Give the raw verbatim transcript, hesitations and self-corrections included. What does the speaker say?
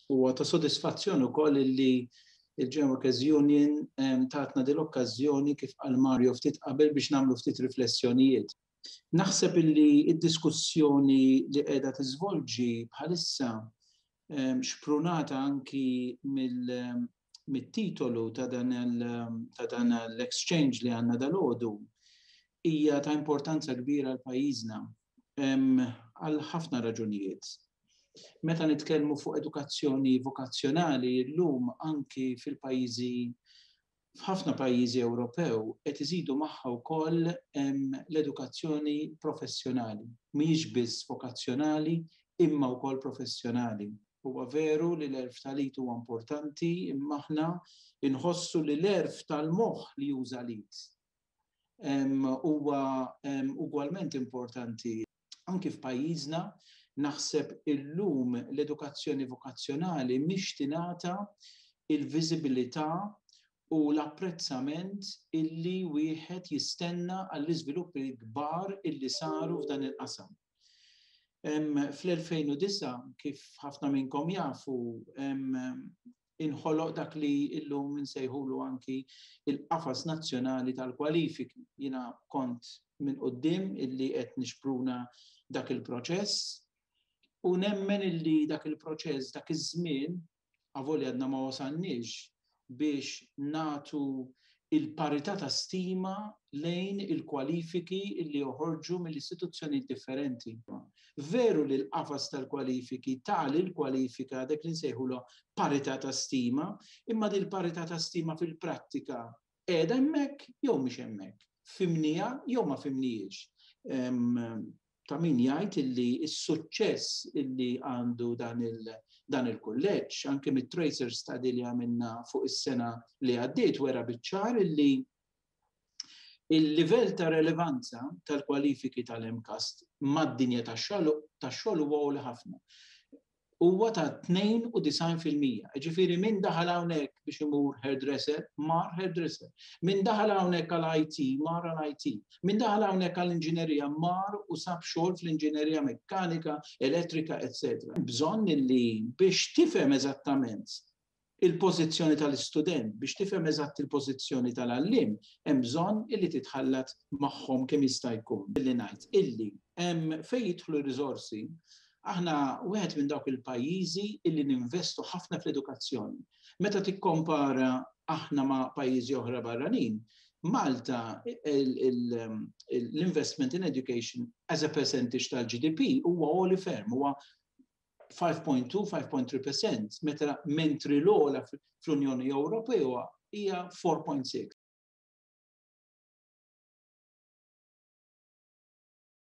Huwa ta' sodisfazzjon ukoll li il-General Workers Union tatna din l-okkażjoni, kif qal Mario ftit qabel, biex nagħmlu ftit riflessjonijiet. Naħseb illi id-diskussjoni li qiegħda tiżvolġi bħalissa, xprunata anki mill-titolu ta' dan l-exchange li għandna dalgħodu, hija ta' importanza kbira għal pajjiżna għal ħafna raġunijiet. Meta nitkellmu fuq edukazzjoni vokazzjonali, llum anki fil-pajjiżi, f'ħafna pajjiżi Ewropew, qed iżidu magħha wkoll l-edukazzjoni professjonali. Mhijiex biss vokazzjonali imma wkoll professjonali. Huwa veru li l-għerf tal-id huwa importanti, imma aħna inħossu li l-għerf tal-moħħ li juża l-id huwa ugwalment importanti. Anki f'pajjiżna naħseb illum l-edukazzjoni vokazzjonali mhix tingħata il-viżibilità u l-apprezzament illi wieħed jistenna għall-iżviluppi kbar illi saru f'dan il-qasam. Fl-elfejn u disgħa, kif ħafna minnkom jafu, inħoloq dak li illum nsejħulu anki il-qafas nazzjonali tal-kwalifiki. Jiena kont minn quddiem illi qed nixpruna dak il-proċess u nemmen illi dak il-proċess, dak iż-żmien, avolja għadna ma wasalniex biex nagħtu il-parità ta' stima lejn il-kwalifiki illi joħorġu mill-istituzzjoni differenti. Veru li l-qafas tal-kwalifiki tal il-kwalifika dak li nsejħulu parità ta' stima, imma dil parità ta' stima fil-prattika qiegħda hemmhekk jew mhix hemmhekk? Fhimnieha jew ma fhimnihiex? Ta' min jgħid illi s-suċċess illi għandu dan il- dan il-kulleġġ, anke mit-tracer study li għamilna fuq is-sena li għaddiet, wera biċ-ċar illi il-livell ta' relevanza tal-kwalifiki tal-M CAST mad-dinja tax-xogħol huwa għoli ħafna. Huwa ta' tnejn u disgħin fil-mija. Ġifieri min daħal hawnhekk biex imur hairdresser, mar hairdresser. Min daħal hawnhekk għal I T, mar għal I T. Min daħal hawnhekk għal inġinerija, mar u sab xogħol fl-inġinerija mekkanika, elettrika, eċċetera. Bżonn li biex tifhem eżattament il-pożizzjoni tal-istudent, biex tifhem eżatt il-pożizzjoni tal-għallim, hemm bżonn illi titħallat magħhom kemm jista' jkun. Billi ngħid illi hemm fejn jidħlu riżorsi, aħna wieħed minn dawk il-pajjiżi illi ninvestu ħafna fl-edukazzjoni. Meta tikkompara aħna ma' pajjiżi oħra barranin, Malta l-investment in education as a percentage tal-G D P huwa għoli ferm, huwa ħamsa punt tnejn, ħamsa punt tlieta fil-mija, meta mentri l-ogħla fl-Unjoni Ewropea hija erbgħa punt sitta.